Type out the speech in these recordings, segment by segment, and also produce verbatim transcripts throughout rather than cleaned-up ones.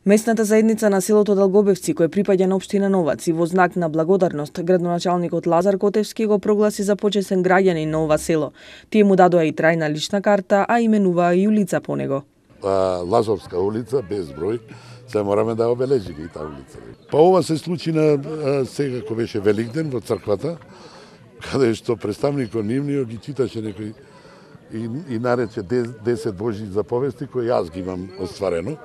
Местната заедница на селото Далгобевци, кој припаѓа на општина Новац, и во знак на благодарност, градоначалникот Лазар Котевски го прогласи за почесен граѓанин на ова село. Тие му дадоа и трајна лична карта, а именуваа и улица по него. А, Лазовска улица, без број, се мораме да обележиме и таа улица. Па ова се случи на а, сега кој беше Великден во црквата, каде што представникот нивниот ги читаше некои и, и нарече десет Божји заповести кои јас ги имам остварено.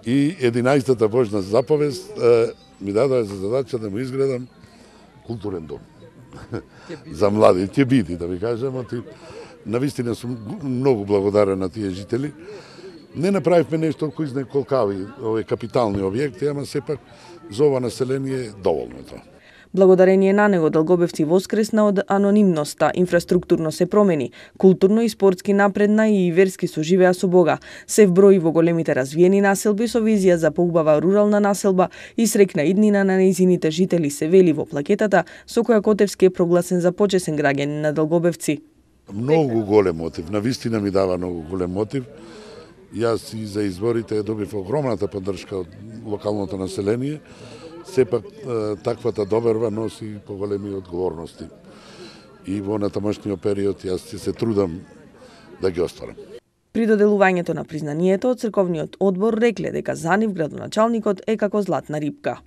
И единаесетата Божна заповест е, ми даде за задача да му изградам културен дом. За млади. Ќе биде, да ви кажам. Ти, навистина сум многу благодарен на тие жители. Не направивме нешто кој знае колкави овие капитални објекти, ама сепак за ова население доволно е тоа. Благодарение на него Далгобевци воскресна од анонимноста, инфраструктурно се промени, културно и спортски напредна и верски соживеа со Бога. Се вброи во големите развиени населби со визија за поубава рурална населба и среќна иднина на нејзините жители, се вели во плакетата со која Котевски е прогласен за почесен граѓанин на Далгобевци. Многу голем мотив, навистина ми дава многу голем мотив. Јас и за изборите добив огромната поддршка од локалното население. Сепак таквата доберба носи поголеми одговорности. И во натамошниот период јас ќе се трудам да ги остварам. При доделувањето на признанието од црковниот одбор рекле дека за нив градоначалникот е како златна рипка.